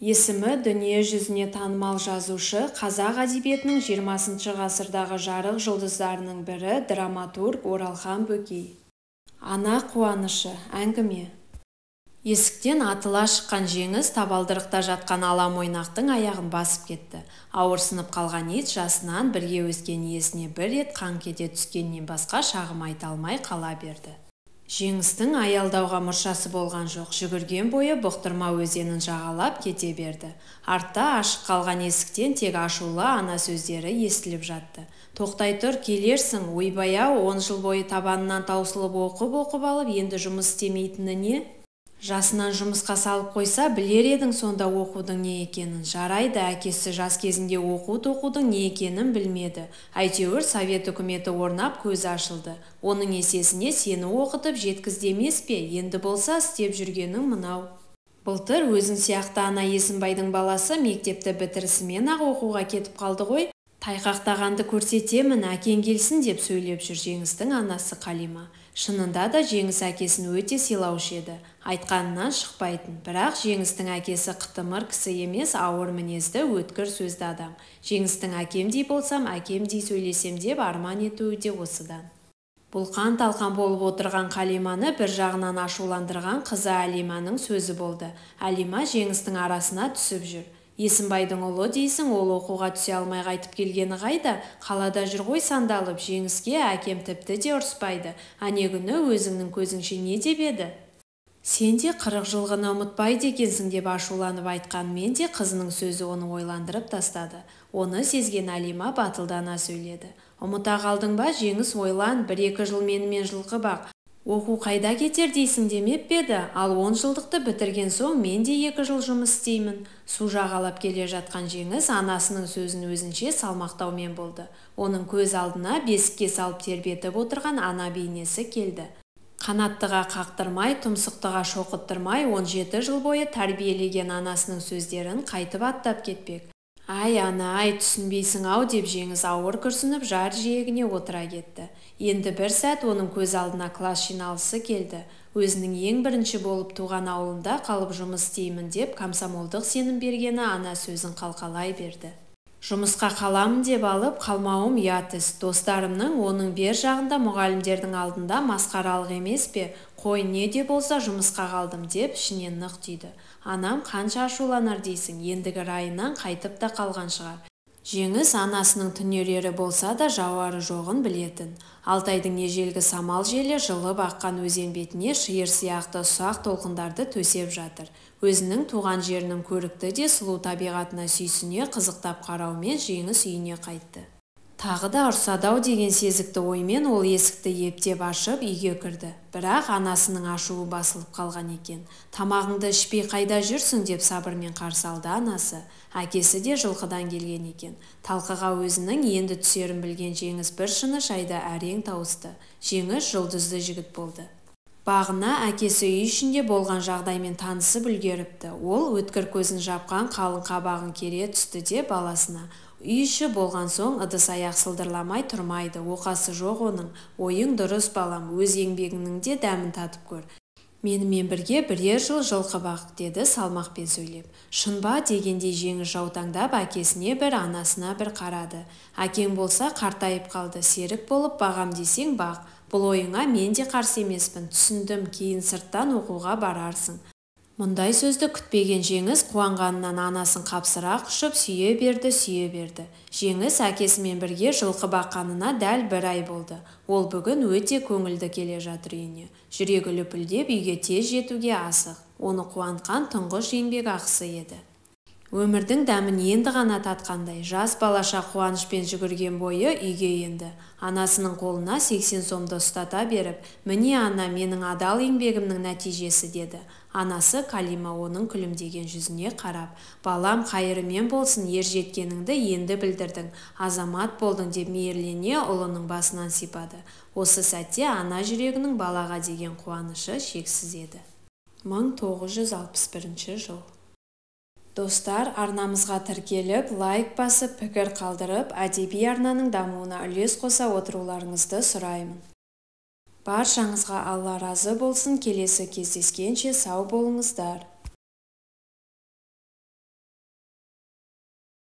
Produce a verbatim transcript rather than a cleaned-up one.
Есімі дүние жүзіне танымал жазушы, қазақ әдебиетінің жиырмасыншы ғасырдағы жарық жұлдыздарының бірі драматург Оралхан Бөкей. Ана қуанышы, әңгіме. Есіктен атыла шыққан жеңіс табалдырықта жатқан ала мойнақтың аяғын басып кетті. Ауырсынып қалған ит жасынан бірге өскен иесіне бір рет қаңқ ете түскеннен басқа шағым айта алмай қала берді. Жеңістің аялдауға мұршасы болған жоқ, жүгірген бойы бұқтырма өзенін жағалап кете берді. Артта ашық қалған есіктен тек ашулы ана сөздері естіліп жатты. Тоқтай тұр, келерсің, ойбай-ау, он жыл бойы табанынан таусылып оқып-оқып алып, енді жұмыс істемейтіні не? Жасынан жұмысқа салып қойса, білер едің сонда оқудың не екенін. Жарайды, әкесі жас кезінде оқу-тоқудың не екенін білмеді. Әйтеуір совет үкіметі орнап көзі ашылды. Оның есесіне сені оқытып жеткізді емес пе? Енді болса істеп жүргенің мынау. Былтыр өзің сияқты ана Есімбайдың баласы мектепті бітірісімен-ақ оқуға кетіп қалды ғой. Тайқақтағанды көрсетемін, әкең келсін деп сөйлеп жүр Жеңістің анасы Қалима. Шынында да Жеңіс әкесін өте сыйлаушы еді, айтқанынан шықпайтын. Бірақ Жеңістің әкесі қытымыр кісі емес, ауыр мінезді, өткір сөзді адам. Жеңістің әкемдей болсам, әкемдей сөйлесем деп арман етуі де осыдан. Бұлқан-талқан болып отырған Қалиманы бір жағынан ашуландырған қызы Әлиманың сөзі болды. Әлима Жеңістің арасына түсіп жүр. Есімбайдың ұлы дейсің, ол оқуға түсе алмай қайтып келгені қайда? Қалада жүр ғой сандалып. Жеңіске әкем тіпті де ұрыспайды. Әне күні өзіңнің көзіңше не деп еді? Сен де қырық жылғыны ұмытпайды екенсің деп ашуланып айтқанмен де қызының сөзі оны ойландырып тастады. Оны сезген Әлима батылдана сөйледі. Ұмыта қалдың ба, Жеңіс, ойлан, бір-екі жыл менімен жылқы бақ. Оқу қайда кетер дейсің демеп педі, ал он жылдықты бітірген соң мен де екі жыл жұмыс істеймін. Су жағалап келе жатқан Жеңіс анасының сөзін өзінше салмақтаумен болды. Оның көз алдына бесікке салып тербетіп отырған ана бейнесі келді. Қанаттыға қақтырмай, тұмсықтыға шоқыттырмай, он жеті жыл бойы тәрбиелеген анасының сөздерін қайтып аттап кетпек. Ай, ана, ай, түсінбейсің-ау деп Жеңіс ауыр күрсініп жар жиегіне отыра кетті. Енді бір сәт оның көз алдына класс жиналысы келді. Өзінің ең бірінші болып туған ауылында қалып жұмыс істеймін деп комсомолдық сенім бергені ана сөзін қалқалай берді. Жұмысқа қаламын деп алып, қалмауым ұят іс. Достарымның оның бер жағында мұғалімдердің алдында масқаралық емес пе? Қой, не де болса жұмысқа қалдым деп ішінен нық түйді. Анам қанша ашуланар дейсің, ендігі райынан қайтып та қалған шығар. Жеңіс анасының түнерері болса да жауары жоғын білетін. Алтайдың ежелгі самал желі жылып аққан өзен бетіне шиыр сияқты ұсақ толқындарды төсеп жатыр. Өзінің туған жерінің көрікті де сұлу табиғатына сүйсіне қызықтап қараумен Жеңіс үйіне қайтты. Тағы да ұрсадау деген сезікті оймен ол есікті ептеп ашып үйге кірді. Бірақ анасының ашуы басылып қалған екен. Тамағыңды ішпей қайда жүрсің деп сабырмен қарсы алды анасы. Әкесі де жылқыдан келген екен. Талқыға өзінің енді түсерін білген Жеңіс бір шыны шайда әрең тауысты. Жеңіс жұлдызды жігіт болды. Бағына әкесі үй ішінде болған жағдаймен танысып үлгеріпті. Ол өткір көзін жапқан қалың қабағын кере түсті де баласына: үй іші болған соң ыдыс аяқ сылдырламай тұрмайды, оқасы жоқ оның. Ойың дұрыс балам, өз еңбегіңнің де дәмін татып көр. Менімен бірге бірер жыл жылқы бақ, деді салмақпен сөйлеп. Шын ба дегендей Жеңіс жаутаңдап әкесіне бір, анасына бір қарады. Әкең болса қартайып қалды, серік болып бағам десең бақ. Бұл ойыңа мен де қарсы емеспін, түсіндім, кейін сырттан оқуға барарсың. Мұндай сөзді күтпеген Жеңіс қуанғанынан анасын қапсыра құшып сүйе берді, сүйе берді. Жеңіс әкесімен бірге жылқы баққанына дәл бір ай болды. Ол бүгін өте көңілді келе жатыр үйіне. Жүрегі лүпілдеп үйге тез жетуге асық. Оны қуантқан тұңғыш еңбек ақысы еді. Өмірдің дәмін енді ғана татқандай, жас балаша қуанышпен жүгірген бойы үйге енді. Анасының қолына сексен сомды ұстата беріп: міне ана, менің адал еңбегімнің нәтижесі, деді. Анасы Қалима оның күлімдеген жүзіне қарап: балам, қайырымен болсын, ер жеткеніңді енді білдірдің, азамат болдың деп мейірлене ұлының басынан сипады. Осы сәтте ана жүрегінің балаға деген қуанышы шексіз еді. мың тоғыз жүз алпыс бірінші жыл. Достар, арнамызға тіркеліп, лайк басып, пікір қалдырып, әдеби арнаның дамуына үлес қоса отыруларыңызды сұраймын. Баршаңызға Алла разы болсын. Келесі кездескенше сау болыңыздар.